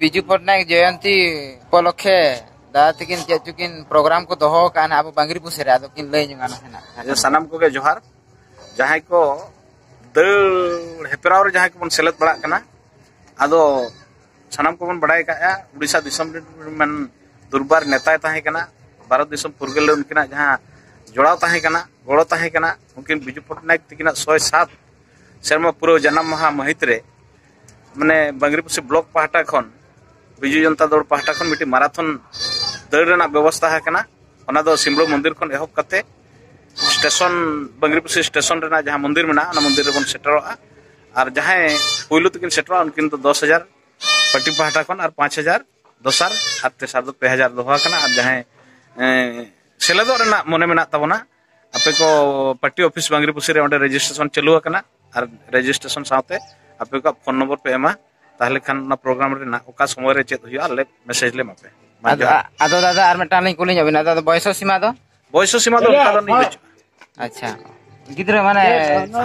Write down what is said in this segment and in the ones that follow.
बिजू पटनायक जयंती उपलक्षे दादा तकिन check booking programme को दोहो कान अब बांगरीपुसी रे आदो किन लई जोंगा ना सानाम को के जोहार जहां को दल हेपराव रे जहां को बन सेलेद बड़ा कना आदो सानाम को बन बड़ाय का उड़ीसा दिसम रे मन दुर्बार नेता ताहे कना भारत दिसम फुरगल उनकिना जहां जोड़ाव ताहे कना गड़ो ताहे कना उनकिन बिजू पटनायक तकिना 107 सेरमा पुरो जन्म महा महित रे माने बांगरीपुसी ब्लॉक पाहटा खन बिजू जनता दल पाहटा खन मिटी माराथन दौड़ रेना व्यवस्था हकना ओना दो सिमड़ो मंदिर खन एहब कते स्टेशन बांगरीपुसी स्टेशन रेना जहां मंदिर मेना ओना मंदिर रे बन सेटरोआ और जहां पुइलु तकिन सेटरोआ उनकिन तो 10,000 पार्टी पाहटा खन और 5,000 दोसार और तेसार दो 3,000 दोहा कना और जहां सेलेदो रेना मने मेना ताबोना आपे को पार्टी ऑफिस बांगरीपुसी रे ओंडे रजिस्ट्रेशन चालू हकना और रजिस्ट्रेशन साथे आपे को फोन नंबर पे एमा ताहले खान ना प्रोग्राम रे ना ओका समय रे चेत हुआ ले मैसेज ले मापे आदो दादा are मेटान लिंग कुली जाबिन आदो बयस सीमा दो बयस सीमा दो ओका दो नहीं बचुआ। अच्छा गिद्रा माने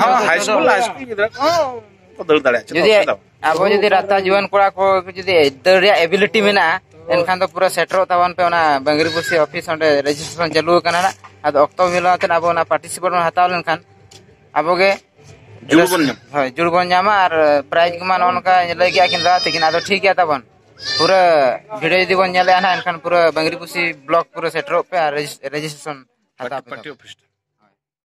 हां हाई स्कूल गिद्रा को दौड़ दाड़े जुदी आबो जुदी राता जुवान कोड़ा को जुदी दौड़ रे एबिलिटी मेना एनखान दो पूरा सेटरो तावन पे ओना बांगरीपुसी ऑफिस ओंडे रजिस्ट्रेशन चालू कना ना आदो अक्तो मिलाते आबो ओना पार्टिसिपेट हताव लेनखान आबो गे जुड़ बन ñam होय जुड़ बन ñama और प्राइज को मान उनका लई गया किन दादा तकिन आदो ठीक गया ताबन पूरा भिडियो जुदी बन ñale ना एनखान पूरा बांगरीपुसी ब्लॉक पूरा सेटरो पे रजिस्ट्रेशन हताव पार्टी ऑफिस।